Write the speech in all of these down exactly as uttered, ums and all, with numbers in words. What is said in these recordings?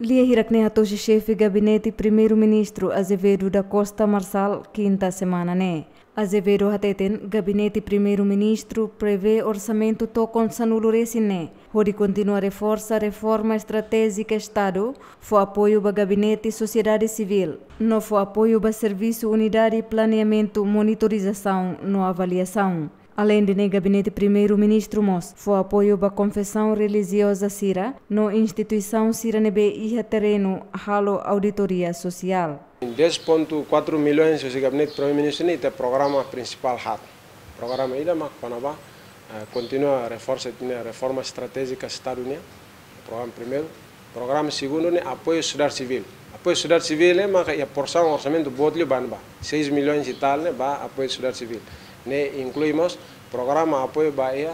Lia hirak ne'e hato'o husi xefe Gabinete Primeiru-Ministru Azevedo da Costa Marçal, kinta semana ne'e. Azevedo hateten, Gabinete Primeiru-Ministru prevee orsamentu tokon sanulu resin ne'e, hodi kontinua reforsa reforma estratéjika Estadu, fó apoiu ba gabinete sosiedade sivíl, no fó apoiu ba servisu unidade planeamentu, monitorizasaun no avaliasaun. Aleinde ne'e, Gabinete Primeiru-Ministru mós fó apoiu ba konfesaun relijioza sira no instituisaun sira ne'ebé iha terrenu halo auditoria sosiál. Dez ponto quatro milhões husi Gabinete Primeiru-Ministru ne'e ita programa prinsipál haat. Programa ida mak kona-ba, eh, kontinua reforsa ita-nia reforma estratéjika Estadu nian. Programa primeiru. Programa segundu ne'e apoiu sosiedade sivíl. Apoiu sosiedade sivíl ne'e maka iha porsaun orsamentu boot liu ba ne'ebá. Seis milhões e tal ne'e ba apoiu sosiedade sivíl. Ne'e inklui mós programa apoiu ba iha,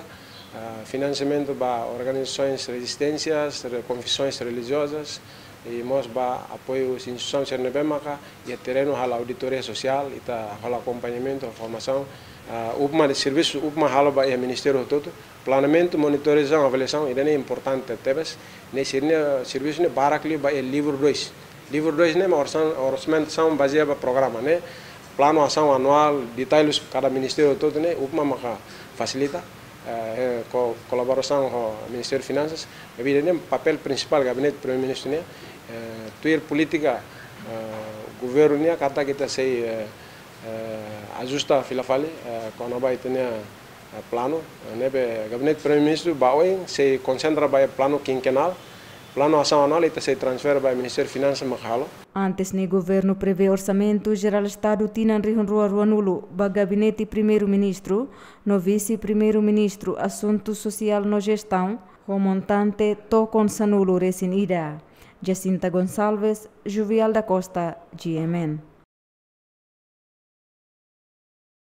ah, finansiamentu ba organizasoens rezisténsias, re-, konfesoens relijiozas, i mós ba apoiu instituisaun sira ne'ebé maka iha terrenu halo auditoria sosiál, ita halo akompañamentu, formasaun, ah, upma de servisu, upma halo ba iha ministériu hotu-hotu, planeamentu, monitorizasaun, avaliasaun, ida-ne'e importante tebes. Ne'e sira-nia servisu ne'e barak liu ba iha livru dois. Livru dois ne'e mak orsan-, orsamentu bazeia ba programa ne'e. Planu asaun anuál, detalhes kada ministériu hotu-hotu ne'e, upma maka fasilita, eh, eh, ko-, kolaborasaun ho Ministériu Finansas. Maibé ida-ne'e papél prinsipál Gabinete Primeiru-Ministru nian, eh, tuir polítika, eh, governu nian, katak ita sei, eh, eh, ajusta fila fali, eh, kona-ba ita-nia, eh, planu, eh, ne'ebé Gabinete Primeiru-Ministru ba oin sei konsentra ba planu kinkenál, planu asaun anuál ita sei transfere ba Ministériu Finansas mak halo. Antes ne'e, governu prevee Orsamentu Jerál Estadu tinan rihun rua ruanulu ba Gabinete Primeiru-Ministru no Vise-Primeiru-Ministru Asuntu Sosiál no Jestaun, ho montante tokon sanulu resin ida. Jacinta Gonçalves, Juvial da Costa, G M N.